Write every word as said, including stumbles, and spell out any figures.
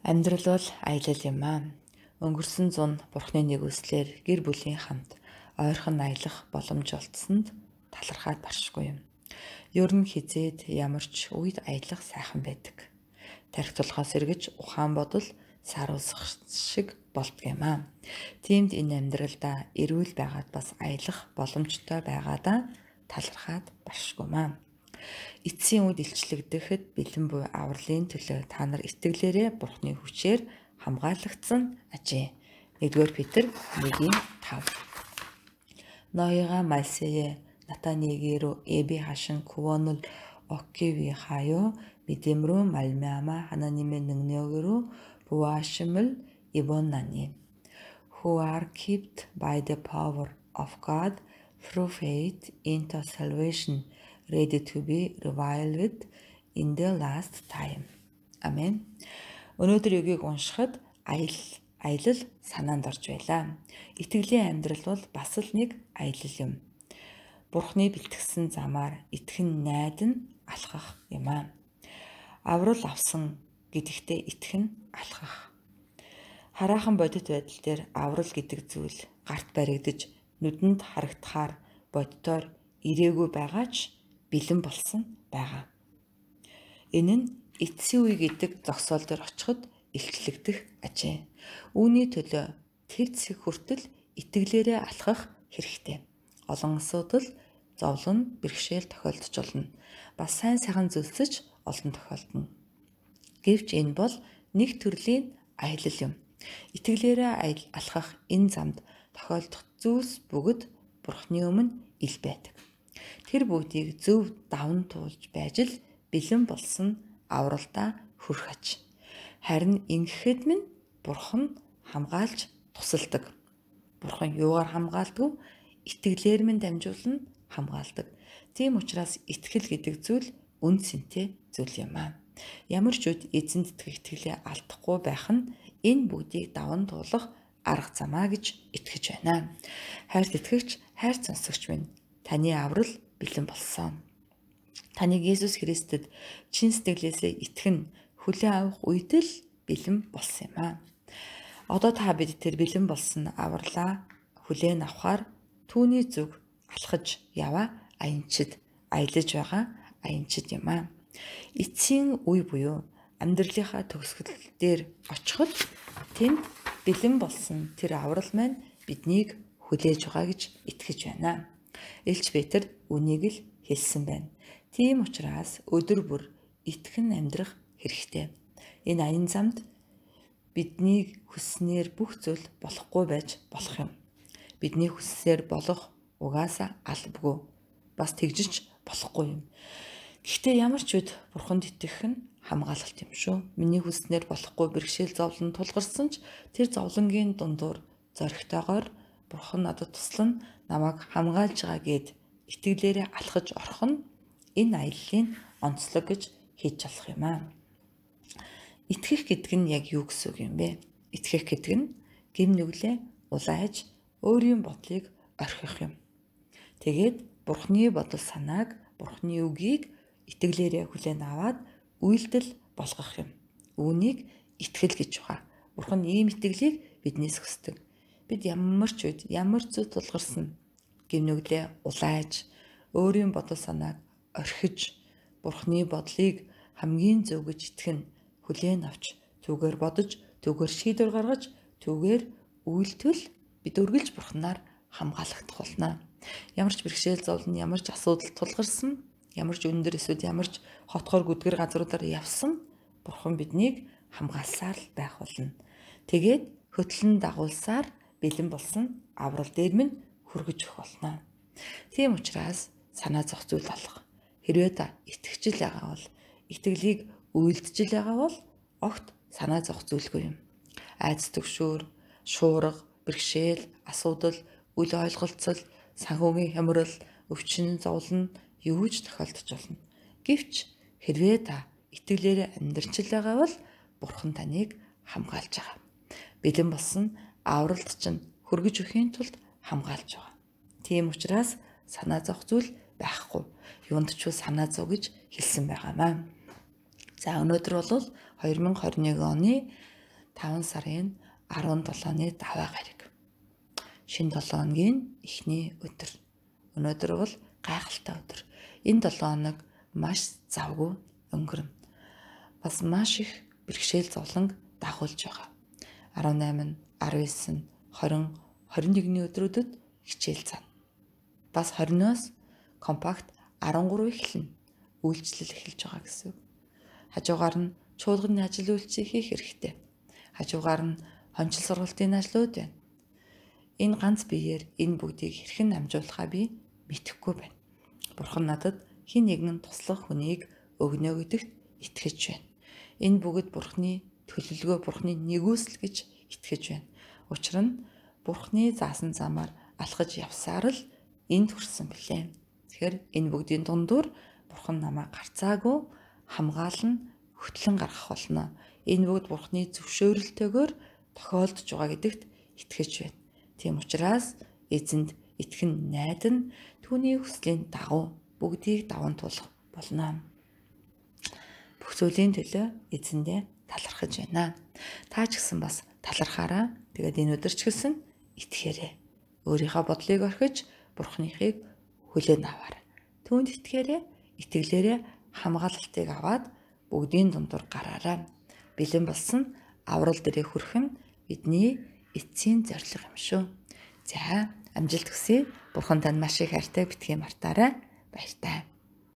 Амьдрал бол аялал юм аа. Өнгөрсөн зун Бурхны нэгүслэр гэр бүлийн хамт ойрхон аялах боломж олдсонд талархаад баршгүй юм. Ер нь хизээд ямар ч үед аялах сайхан байдаг. Тархи тулгаас эргэж ухаан бодол сааруулсах шиг болдго юм аа. Тиймд энэ амьдралдаа эрүүл байгаад бас аялах боломжтой байгаадаа талархаад баршгүй маа. Эцсийн үед илчлэгдэхэд бэлэн буй авралын төлөө та нар итгэлээрээ Бурхны хүчээр хамгаалагдсан ажээ. нэгдүгээр Петр нэгin тав. 너희가 말세에 나타내기로 예비하신 구원을 얻기 위하여 믿음으로 말미암아 하나님의 능력으로 부하심을 입었나니 who are kept by the power of God through faith into salvation ready to be revealed in the last time. Амен. Өнөөдөр югийг уншихад аял аялал санаанд орж байлаа. Итгэлийн амьдрал бол бас л нэг аялал юм. Бурхны бэлтгэсэн замаар итгэн найдан алхах юм аа. Аврал авсан гэдэгтээ итгэн алхах. Хараахан бодит байдал дээр аврал гэдэг зүйл гарт баригдаж нүдэнд харагдахаар боддоор ирээгүй байгаа ч бэлэн болсон байгаа. Энэ нь эцсийн үе гэдэг зогсоол дээр очиход илчлэгдэх ажээ. Үүний төлөө тэр зэг хүртэл итгэлээрээ алхах хэрэгтэй. Олон асуудал, зовлон, бэрхшээл тохиолдож болно. Бас сайн сайхан зүйлсэж олон тохиолдно. Гэвч энэ бол нэг төрлийн аялал юм. Итгэлээрээ алхах энэ замд тохиолдох зүйлс бүгд Бурхны өмнө ил байдаг. Тэр бүгдийг зөв даван туулж байж л бэлэн болсон авралдаа хүрэх аж. Харин ингэхэд минь Бурхан хамгаалж тусалдаг. Бурхан юугаар хамгаалдаг? Итгэлээр минь дамжуулан хамгаалдаг. Тийм учраас итгэл гэдэг зүйл үн цэнтэй зүйл юм аа. Ямар ч үед эзэнд итгэх итгэлээ алдахгүй байх нь энэ бүгдийг даван туулах арга замаа гэж итгэж байна. Хайрт итгэгч, хайр сонсогч минь, таны аврал бэлэн болсон. Таныг Есүс Христэд чин сэтгэлээсээ итгэн хүлээн авах үед л бэлэн болсон юм аа. Одоо та бид тэр бэлэн болсон авралаа хүлээн авахар түүний зүг алхаж яваа аянчид аялаж байгаа аянчид юм аа. Эцсийн үе буюу амьдралынхаа төгсгөл дээр очиход тэнд бэлэн болсон тэр аврал маань биднийг хүлээж байгаа гэж итгэж байна. Илч Петр үнийг л хэлсэн байна. Тийм учраас өдөр бүр итгэн амьдрах хэрэгтэй. Энэ аян замд бидний хүснээр бүх зүйл болохгүй байж болох юм. Бидний хүссээр болох угаасаа албагүй. Бас тэгжиж болохгүй юм. Гэхдээ ямар ч үед Бурханд итгэх нь хамгаалалт юм шүү. Миний хүснээр болохгүй бэрхшээл зовлон тулгарсан ч тэр зовлонгийн дундуур зоригтойгоор Бурхан надад туслан намайг хамгаалж байгаа гэд итгэлээрээ алхаж орох нь энэ аяллаа онцлог гэж хийж болох юм аа. Итгэх гэдэг нь яг юу гэсэн үг юм бэ? Итгэх гэдэг нь гэм нүглээ улайж өөрийн бодлыг орхих юм. Тэгээд Бурхны бодол санааг, Бурхны үгийг итгэлээрээ хүлээн аваад үйлдэл болгох юм. Үүнийг итгэл гэж байгаа. Бурхан ийм итгэлийг биднээс хүсдэг. Бид ямар ч үед ямар зүйл тулгарсан гэмнүглээ улайж өөрийн бодол санааг орхиж Бурхны бодлыг хамгийн зөв гэж итгэн хүлээн авч түүгээр бодож түүгээр шийдвэр гаргаж түүгээр үйлдэл бид үргэлж Бурханаар хамгаалагдах болно. Ямар ч бэрхшээл зовлон, ямар ч асуудал тулгарсан, ямар ч өндөр эсвэл ямар ч хотгор гүдгэр газруудаар явсан Бурхан биднийг хамгаалсаар л байх болно. Тэгээд хөтлөн дагуулсаар бэлэн болсон аврал дээр минь хүргэж өгөх болно. Тийм учраас санаа зовх зүйл болох. Хэрвээ та итгэжл байгаа бол итгэлийг үйлдэж байгаа бол огт санаа зовх зүйлгүй юм. Айдас төгшөөр, шуурга, бэрхшээл, асуудал, үл ойлголцол, санхүүгийн хямрал, өвчин, зовлон юу ч тохиолдож болно. Гэвч хэрвээ та итгэлээр амьдрч л байгаа бол Бурхан таныг хамгаалж байгаа. Бэлэн болсон авралт чинь хүргэж өхийн тулд хамгаалж байгаа. Тийм учраас санаа зовх зүйл байхгүй. Юунд ч санаа зов гэж хэлсэн байгаамаа. За өнөөдөр бол две тысячи двадцать один оны таван сарын арван долооны даваа гараг. Шинэ долоо хоногийн эхний өдөр. Өнөөдөр бол гайхалтай өдөр. Энэ долоо хоног маш завгүй өнгөрнө. Бас маш их бэрхшээл зовлон дагуулж байгаа. арван найман, арван девять, двадцать, двадцать нэгний өдрүүдэд хичээл цана. Бас двадцать-оос компакт арван гурав эхэлнэ. Үйлчлэл эхэлж байгаа гэсэн үг. Хажуугаар нь чуулганы ажил үйлчийг хийх хэрэгтэй. Хажуугаар нь хончил сургалтын ажлууд байна. Энэ ганц биеэр энэ бүгдийг хэрхэн амжуулахаа би мэдэхгүй байна. Бурхан надад хэн нэгэн туслах хүнийг өгнө гэдэгт итгэж байна. Энэ бүгд Бурханы төлөвлөгөө, Бурханы нэгүсэл гэж итгэж байна. Учир нь Бурханы заасан замаар алхаж явсаар л энд хүрсэн билээ. Тэгэхээр энэ бүгдийн дундуур Бурхан намайг гарцаагүй хамгаална, хөтлөн гаргах болно. Энэ бүгд Бурханы зөвшөөрөлтөөр тохиолдож байгаа гэдэгт итгэж байна. Тийм учраас эзэнд итгэн найдан түүний хүслийн дагуу бүгдийг даван туулах болно. Бүх зүйлийн төлөө эзэндээ талархаж байна. Та ч гэсэн бас талархаараа. Тэгээд энэ өдөр ч гэсэн итгэхээрэй. Өөрийнхөө бодлыг орхиж Бурханыхыг хүлээн аваарай. Түүнд итгэхээрэй, итгэлээрээ хамгаалалтыг аваад бүгдийн дундуур гараарай. Бэлэн болсон аврал дээрээ хүрэх нь бидний эцсийн зорилго юм шүү. За, амжилт хүсье. Бурхан танд маш их хайртай битгий мартаарай. Баяртай.